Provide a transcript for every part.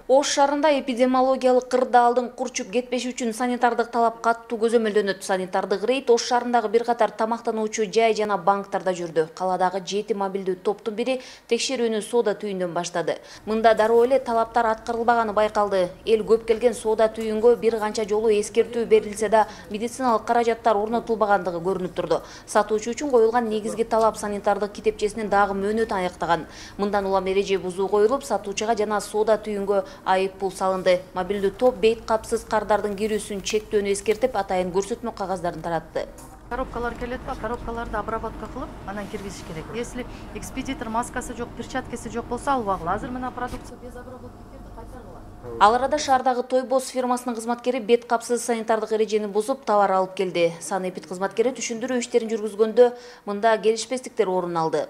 Ош шаарында эпидемиологиялык кырдаалдын курчуп кетпеши үчүн санитардык талап катуу көзөмөлдөнөт. Санитардык рейд Ош шаарындагы бир катар тамактануучу жай жана банктарда жүрдү. Каладагы 7 мобилдүү топтун бири текшерүүнү соода түйүндөн баштады. Мында дароо эле талаптар аткарылбаганы байкалды. Эл көп келген соода түйүнгө бир канча жолу эскертүү берилсе да, медициналык каражаттар орнотулбагандыгы көрүнүп турду. Сатуучу үчүн коюлган негизги талап санитардык китепчесинин дагы мөөнөтү аяктаган. Мындан улам эреже бузуу коюлуп, сатуучуга жана соода түйүнгө айыппул салынды. Мобилдүү топ бейт капсыз кардардын кирүүсүн чектөөнү эскертип, атайын көрсөтмө кагаздарын таратты. Коробкалар келет ба, коробкаларды обработка кылып, анан киргизиш керек. Если экспедитор маскасы жок, перчаткасы жок болсо албагыла. Азыр мына продукция без обработки келди, кайтаргыла. Ал арада шаардагы Тойбос фирмасынын кызматкери бет капсыз санитардык эрежени бузуп, товар алып келди. Санэпид кызматкери түшүндүрүү иштерин жүргүзгөндө мында келишпестиктер орун алды.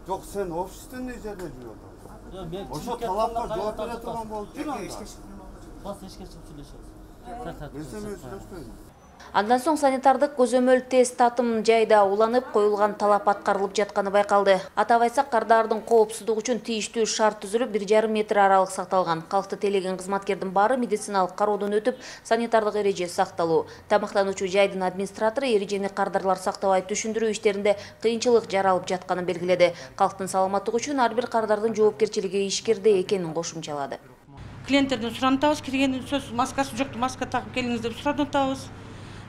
Жок, сен офистен жерде жүрөсүң. Ошо талапка жооп бере турган болуп тур анда. Андан соң санитардык көзөмөл тест татым жайда уланып, коюлган талап аткарылып жатканы байкалды. Атап айтсак, кардардын коопсуздугу үчүн тийиштүү шарт түзүлүп, 1,5 метр аралык сакталган. Калкты тейлеген кызматкердин баары медициналык кароодон өтүп, санитардык эреже сакталуу. Тамактануучу жайдын администратору эрежени кардарлар сактабай түшүндүрүү иштеринде кыйынчылык жаралып жатканын белгиледи. Калктын саламаттыгы үчүн ар бир кардардын жоопкерчилиги ишкерде экенин кошумчалады. Клиенттерден сурантабыз, киргенден сөз маскасы жокту, маска такып келиңиз деп сурантабыз.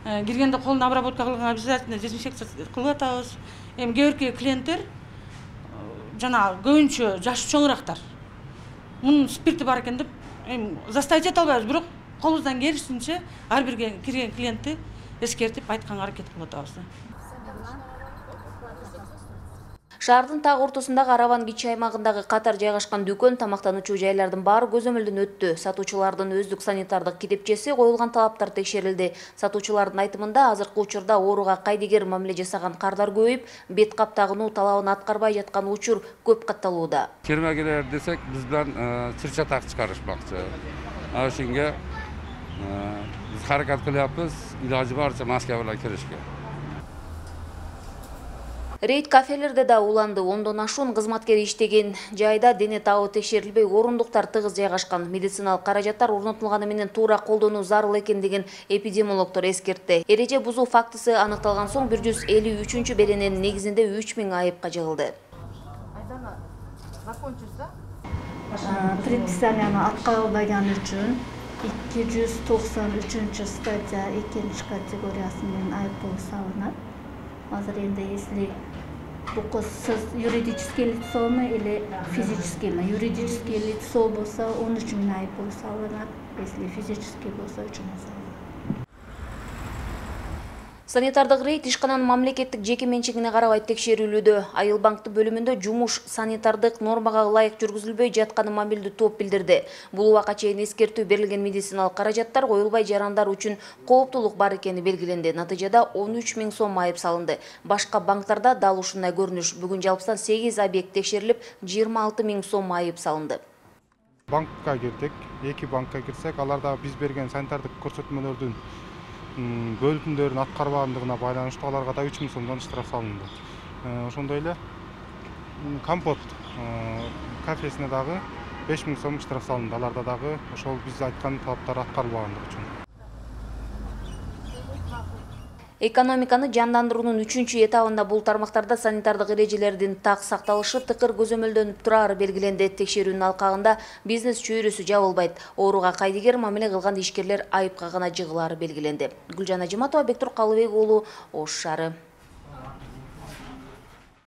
Киргенде колун обработка кылган обязательно дезинфекция кылып атабыз. Эми кээ бирки клиенттер жана көбүнчө жашы чоңурактар. Мунун спирти бар экен деп эми заставить эте албайбыз, бирок колубуздан келишинче ар бир кирген клиентти эскертип айтканга аракет кылып атабыз. Шаардын так ортосундагы Араван кичи аймагындагы катар жайгашкан дүкөн, тамактануучу жайлардын баары көзөмөлдөн өттү. Сатуучулардын өздүк санитардык китепчеси, коюлган талаптар текшерилди. Сатуучулардын айтымында азыркы учурда ооруга кайдыгер мамиле жасаган кардар көбөйүп, бет кап тагынуу талабын аткарбай жаткан учур көп катталууда. Кермегелер десек, биз биlan сырча так чыгарышмакчы. Ошонго биз аракет кылабыз, илажы барча маска менен киришке. Рейд кафелерде да уланды. 10дон ашуун кызматкер иштеген жайда дене табы текшерилбей, орундуктар тыгыз жайгашкан. Медициналык каражаттар орнотулганы менен туура колдонуу зарыл экендигин эпидемиологдор эскертти. Эреже бузуу фактысы аныкталган соң 153 берененин негизинде 3000 айыпка жыгылды. Предписанияны аткарылбаган үчүн 293 статья 2 категориясы менен айыппул салынат. Азыр энди если бу сиз юридический лицону или физическийми? Юридический лицо болсо 13 000 айыппул салынат, если физический болсо 3 000 салынат. Санитардык рейд ишкананын мамлекеттик жеке менчигине карабай текшерүүлүүдө. Айыл банкты бөлүмүндө жумуш санитардык нормага ылайык жүргүзүлбөй жатканын мобилдүү топ билдирди. Бул убакка чейин эскертүү берилген медициналык каражаттар коюлбай жарандар үчүн кооптулук бар экени белгиленди. Натыйжада 13 000 сом айып салынды. Башка банктарда дал ушундай көрүнүш. Бүгүн жалпысынан 8 объект текшерилип, 26 000 сом айып салынды. Банкка кирдик, 2 банкка кирсек, аларда биз берген санитардык көрсөтмөлөрдүн бөлүмдөрүн аткарбагандыгына байланыштуу аларга да 3 000 сомдон штраф салынды. Ошондой эле Компот кафесине дагы 5 000 сом штраф салынды. Аларда дагы ошол биз айткан талаптар аткарылбагандыгы үчүн. Экономиканы жандандыруунун 3-чү этабында бул тармактарда санитардык эрежелердин так сакталышы тыкыр көзөмөлдөнүп турары белгиленди. Текшерүүнүн алкагында бизнес чөйрөсү жабылбайт. Ооруга кайдыгер мамиле кылган ишкерлер айыпка гана жыгылары белгиленди. Гүлжан Ажиматова, Бектур Калыбек уулу, Ош шаары.